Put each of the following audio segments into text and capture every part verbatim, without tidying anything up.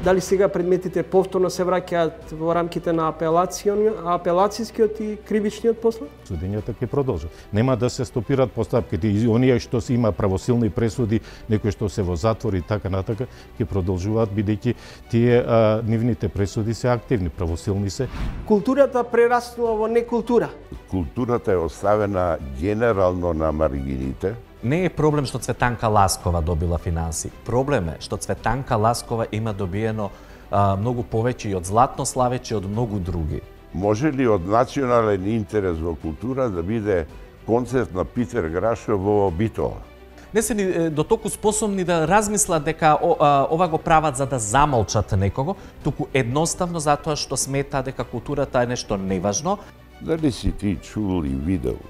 Дали сега предметите повторно се враќаат во рамките на апелацијскиот и кривичниот после? Судењата ќе продолжат. Нема да се стопираат постапките и оние што се има правосилни пресуди, некои што се во затвор и така натака, ќе продолжуваат бидејќи тие а, нивните пресуди се активни, правосилни се. Културата прераснува во некултура. Културата е оставена генерално на маргините. Не е проблем што Цветанка Ласкова добила финанси. Проблем е што Цветанка Ласкова има добиено а, многу повеќе и од Златно Славече и од многу други. Може ли од национален интерес во култура да биде концерт на Питер Грашов во Битола? Не се ни до толку способни да размислат дека о, а, ова го прават за да замолчат некого, туку едноставно затоа што смета дека културата е нешто неважно. Дали си ти чул и видел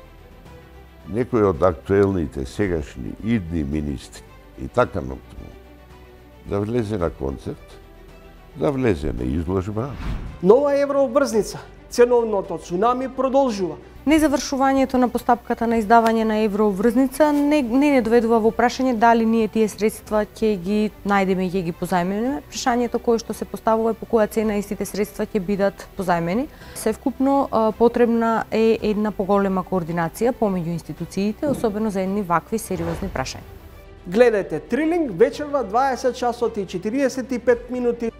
некој од актуелните сегашни идни министри и така натаму да влезе на концерт, да влезе на изложба? Нова еврообрзница, ценовното цунами продолжува. Незавршувањето на постапката на издавање на еврообврзница не, не не доведува во прашање дали ние тие средства ќе ги најдеме и ќе ги позајмиме. Прашањето кое што се поставува е по која цена истите средства ќе бидат позајмени. Севкупно потребна е една поголема координација помеѓу институциите, особено за едни вакви сериозни прашања. Гледајте Трилинг вечерва дваесет часот и четириесет и пет минути